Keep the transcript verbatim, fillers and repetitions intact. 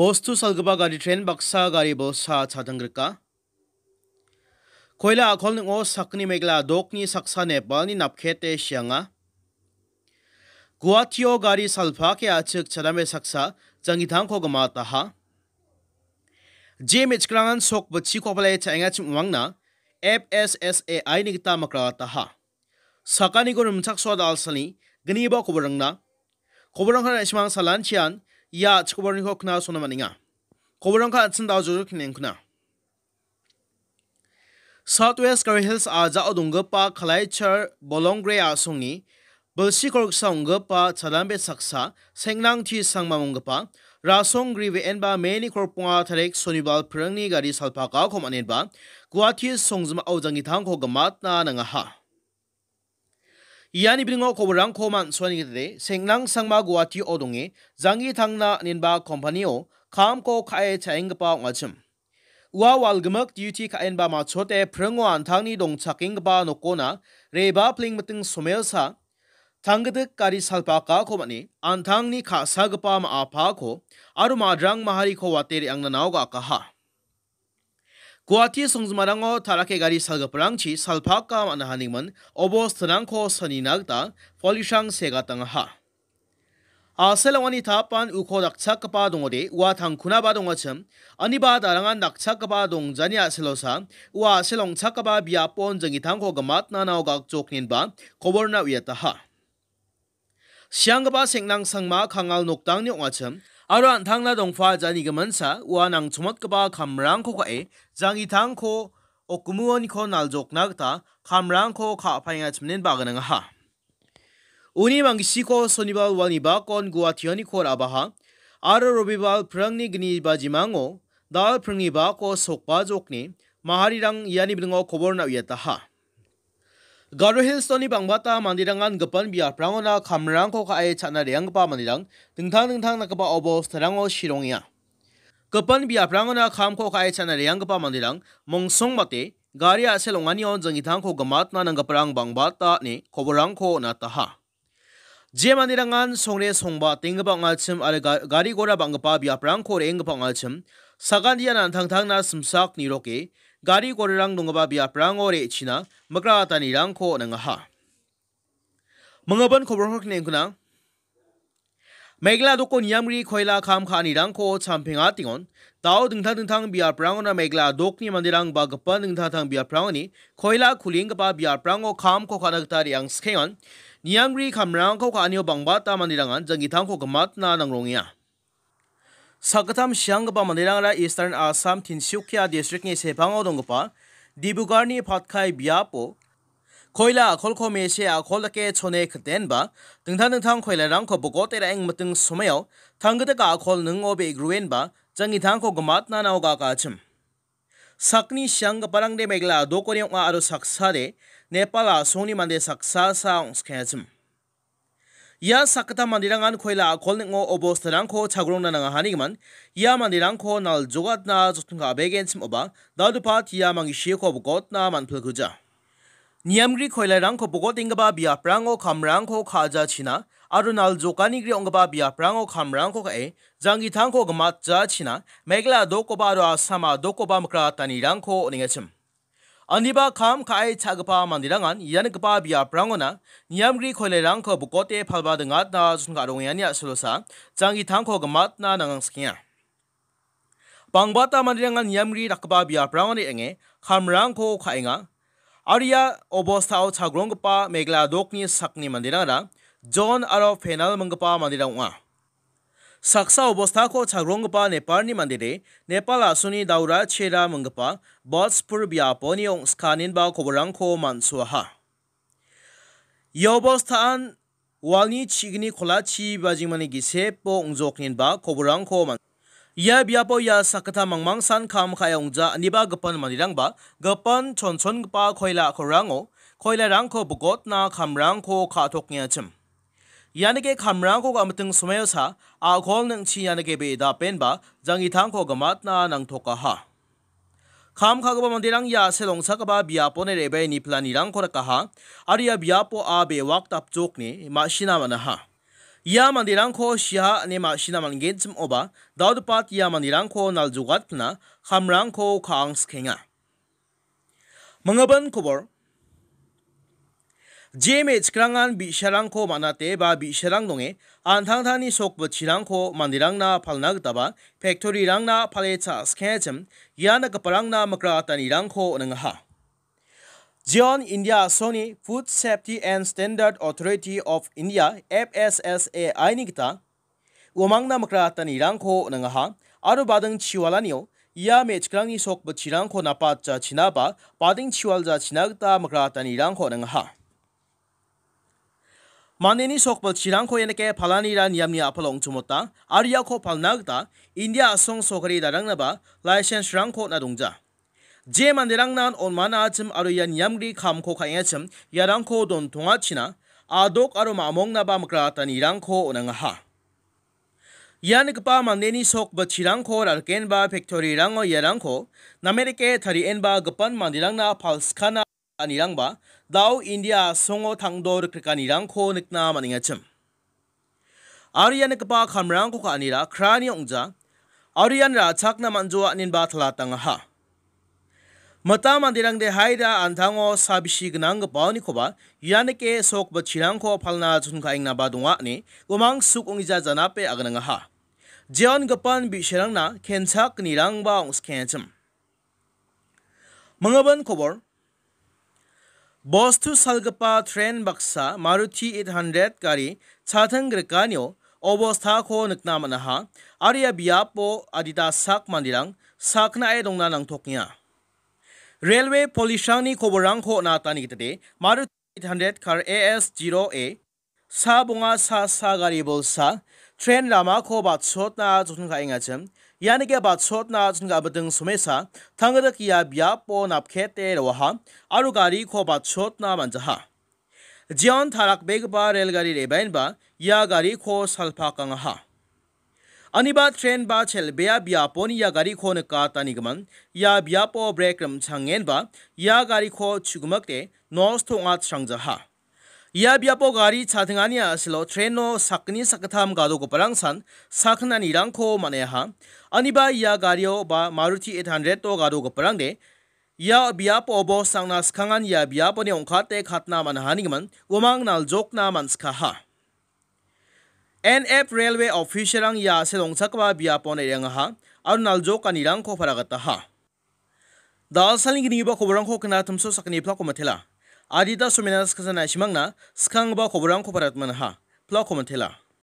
Bostu salgipa gari tren baksa gari bolsa chadanggrika. Koila a·kol ning·o sakgni Meghalaya dokni saksa Nepalni napkete sianga. Guahatio gari salpake a·chik chadambe saksa janggitangko gimataha. Je me·chikrangan sok bitchiko pale cha·engachim uangna F S S A I ni gita mikrataha. Sakaniko rimchaksoa dalsani gniba koborangna. Koborangna na·simang salanchian ia chikoborniko knasona man·enga. Koborangka an·ching dao jojo kinengkuna. South West Garo Hills a·jao donggipa Kalaichar Bolongre a·songni bilsi koriksa ong·gipa chadambe saksa Sengnang T Sangma monggipa Rasong Grive enba Meni korponga tarik Sonibal pringni gari salpakako man·enba Guwahati songjimao janggitangko gimatna nangaha. Iani bringo koborangko man·suani gitade Sengnang Sangma Guwahati-o donge janggi tangna nenba kompanio kamko ka·e cha·enggipa ong·achim. Ua walgimik duty ka·enba machote pringo an·tangni dongchakenggipa nokona reba plengmiting somelsa tanggidik gari salpakako man·e an·tangni ka·sagipa ma·apako aro madrang mahariko wate re·angna naogakaha. Guwahati songjimarango tarake gari salgiparangchi salpaka man·a hanigimin obostirangko sanina gita polisrang segatangaha. A·sel ong·ani tapan uko dakchakgipa dongode ua tangkunaba dongachim, aniba darangan dakchakgipa dongjani a·selosa ua a·sel ong·chakgipa biapon janggitangko gimatna nao gakjokninba koborna uiataha. Sianggipa Sengnang Sangma Kangal nokdangni ong·achim aro an·tangna dongpa jani giminsa ua nangchongmotgipa kamrangko ka·e janggitangko okmuoniko naljokna gita kamrangko ka·paengachimnin baganangaha. Uni manggisiko Sonibal walni bakon Guwahationiko ra·baha aro Robibal pringni gni bajimango dal pringni bako sokbajokni maharirang iani bringo koborna uiataha. Garo Hills-oni bangbata manderangan gipin biaprangona kamrangko ka·e cha·na re·anggipa manderang dingtang dingtang dakgipa obostarango sirongenga. Gipin biaprangona kamko ka·e cha·na re·anggipa manderang mongsong mate gari a·sel ong·anion janggitangko gimatna nanggiparang bangbata ine koborangko on·ataha. Je manderangan songre songba tenggipa ong·achim aro ga-, gari gora bang·gipa biaprangko re·enggipa ong·achim, sakantian an·tangtangna simsak niroke, gari gorarang donggipa biaprango re·china mikratanirangko on·angaha. Minggipa koborko kinengkuna. Meghalaya doko niamri koila kam ka·anirangko champengatengon, dao dingtang dingtang biaprangona Meghalaya dokni manderang ba gipin dingtang dingtang biaprangoni koila kulienggipa biaprango kamko ka·na gita re·angsikengon, niamri kamrangko ka·anio bangbata manderangan janggitangko gimatna nangrongenga. Sakgittam sianggipa manderangara Eastern Assam Tinsukia districtni sepango donggipa Dibugarni Patkai biapo koila a·kolko mese a·kol dake chone kitenba, dingtang dingtang koilarangko bogote ra·eng miting somaio tanggitika a·kol ningo be·gruenba janggitangko gimatna nao gakachim. Sakni sianggiparangde Meghalaya a·dokoni ong·a aro saksade Nepal a·songni mande saksa sa ong·skengachim. Ia sakgittam manderangan koila a·kol ning·o obostarangko chagrongna nangahanigimin, ia manderangko naljogatna joton ka·begenchim oba, daldopat ia mangisiko bogotna man·pilkuja. Niamgri koilarangko bogotenggipa biaprango kamrangko ka·jachina aro naljokanigri ong·gipa biaprango kamrangko ka·e, janggitangko gimatjachina, Meghalaya a·dokkoba aro Assam a·dokkoba mikratanirangko on·engachim. Aniba kam ka·e cha·gipa manderangan ia nikgipa biaprangona niamgri koilarangko bokote palba dingatna joton ka·rongengani a·solosa janggitangko gimatna nangangsikenga. Bangbata manderangan niamgri dakgipa biaprangon re·ange kamrangko ka·enga. Aro ia obostao chagronggipa Meghalaya a·dokni sakni manderangara John aro Penal minggipa manderang ong·a. Saksa obostako chagronggipa Nepalni mandede, Nepal a·songni Daura Chera minggipa Botspur biaponi ong·skaninba koborangko man·soaha. Ia obostaan walni chigni kolachi bajingmani gisepo ong·jokninba koborangko man-, ia biapo ia sakgittam mangmangsan kam ka·e ong·ja aniba gipin manderangba gipin chonchongipa koila a·kolrango koilarangko bogotna kamrangko ka·tokengachim. Ianike kamrangko gamiting somaiosa a·kol ning·chi ianike be·e dapenba janggitangko gimatna nangtokaha. Kam ka·gipa manderang ia a·sel ong·chakgipa biaponi re·bae niplanirangko rikaha, aro ia biapo a be·wak dapjokni ma·sina man·aha. Ia manderangko siaha ine ma·sina man·genchim oba, daodipat ia manderangko naljogatna kamrangko ka·ang sikenga. Mingibin kobor. Je me·chikrangan bi·sarangko man·ate ba bi·sarang donge, an·tangtangni sok bitchirangko manderangna palna gitaba, factory-rangna pale cha·skengachim, ia nikgiparangna mikratanirangko on·engaha. Jeon India a·songni Food Safety and Standard Authority of India, F S S A I ni gita, uamangna mikratanirangko on·engaha, aro bading chiwalanio ia me·chikrangni sok bitchirangko napatjachina ba bading chiwaljachina gita mikratanirangko on·engaha. Mandeni sok bitchirangko ianike palanira niamni a·palo ong·chimota, aro iako palna gita India a·song sokari darangnaba license-rangko on·a dongja. Je manderangnan on·mana achim aro ia niamgri kamko ka·engachim iarangko dontongachina, a·dok aro ma·mongnaba mikratanirangko on·engaha. Ia nikgipa mandeni sok bitchirangko ra·rikenba factory-rango iarangko namerike tarienba gipin manderangna palskana anirangba dao India a·songo tangdo rikrikanirangko nikna man·engachim. Aro ia nikgipa kamrangko ka·anira krani ong·ja, aro ian ra·chakna man·joa inenba talatangaha. Mita manderangde haida an·tango sabisi gnanggipaonikoba ianike sok bitchirangko palna chonka·engnaba donga ine umang suk ong·gija janape agnangaha. Jeon gipin bi·sarangna kenchakgnirangba ong·skengachim. Mingibin kobor. Bostu salgipa tren baksa Maruti eight hundred gari chating grikanio obostako nikna man·aha, aro ia biapo adita sak manderang saknae dongna nangtokenga. Railway police-rangni koborrangko on·atani gitade Maruti eight hundred car A S zero A sa bonga sa sa gari bolsa tren ramako batsotna joton ka·engachim. Ianike batsotna joton ka·biting somesa tangrik ia biapo napkete roaha aro gariko batsotna man·jaha. Jeon tarakbegipa rel gari re·baenba ia gariko salpakangaha. Aniba tren ba chel·bea biaponi ia gariko nikatanigimin, ia biapo brek rim·changenba ia gariko chu·gimikde nosto ong·atrangjaha. Ia biapo gari chatingani a·silo treno sakgni sakgittam gadogiparangsan sakgnanirangko man·eaha. Aniba ia gario ba Maruti eight hundred-o gadogiparangde ia biapo bosangna skangan ia biaponi ong·kate katna man·ahanigimin umang naljokna man·sikaha. N F Railway official-rang ia a·sel ong·chakgipa biapon re·angaha aro naljokanirangko paragataha. Dalsalni gnigipa koborrangko knatimso sakgni plako mitela. Adita somena skasana simangna skanggipa koborrangko paratmanaha. Plako mitela.